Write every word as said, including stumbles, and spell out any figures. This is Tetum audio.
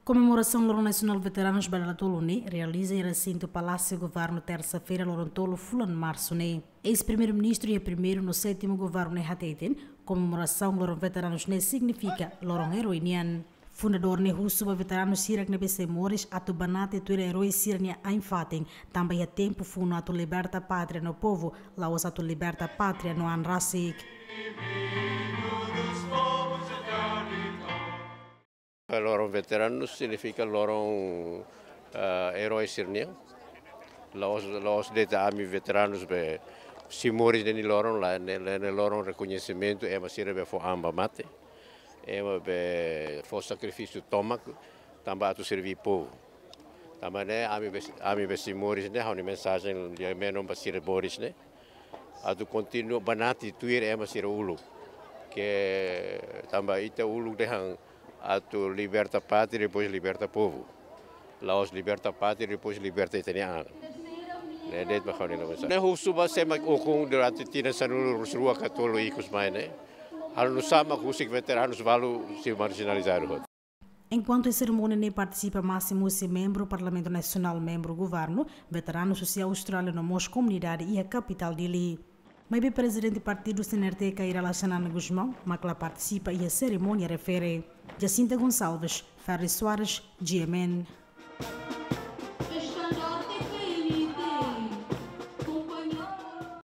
Komemorasaun Loron Nasionál Veteranus ba dala tolu ne'e realiza iha resintu Palásiu Governu, tersa-feira, loron tolu fulan Marsu ne'e. Eis-Primeiru-Ministru iha primeiru no sétimu governu ne'e hateten, komemorasaun Loron Veteranus ne'e signifika loron eroi nian. Fundadór ne'e husu ba veteranus sira ne'ebé sei moris atu banati tuir eroi sira-nia ain-fatin, tanba iha tempu funu atu liberta pátria no povu, la'ós atu liberta pátria no an rasik. Loron Veteranus signifika loron, ah, eroi sira-nian. La'ós, la'ós de'it ami veteranus be sei moris iha ne'e loron, lae, ne'e, ne'e, ne'e loron rekoñesimentu ema sira be fó an ba mate, ema be fó sakrifísiu tomak, tanba atu serví povu. Tanba ne'e ami be, ami be sei moris ne'e, ha'u-nia mensajen lia menon ba sira moris ne'e, atu kontinua banati tuir ema sira uluk. Ke tanba ita uluk dehan atu liberta pátria, depois liberta povu. La'ós liberta pátria, depois liberta ita-nia an. Ne'e de'it mak ha'u-nia mensajen. Ne'e husu ba sé mak ukun durante tinan sanulu-resin-rua ka tolu ikus mai ne'e, halo nu'usá mak husik veteranus balu sei marjinalizadu hotu. Enkuantu iha serimónia ne'e partisipa másimu husi membru Parlamentu Nasionál, membru Governu, veteranus husi Austrália no mós komunidade iha kapitál Dili. Maibé Prezidente Partidu C N R T, Kay Rala Xanana Gusmão, mak la partisipa iha serimónia refere. Jacinta Gonçalves, Ferri Soares, G M N.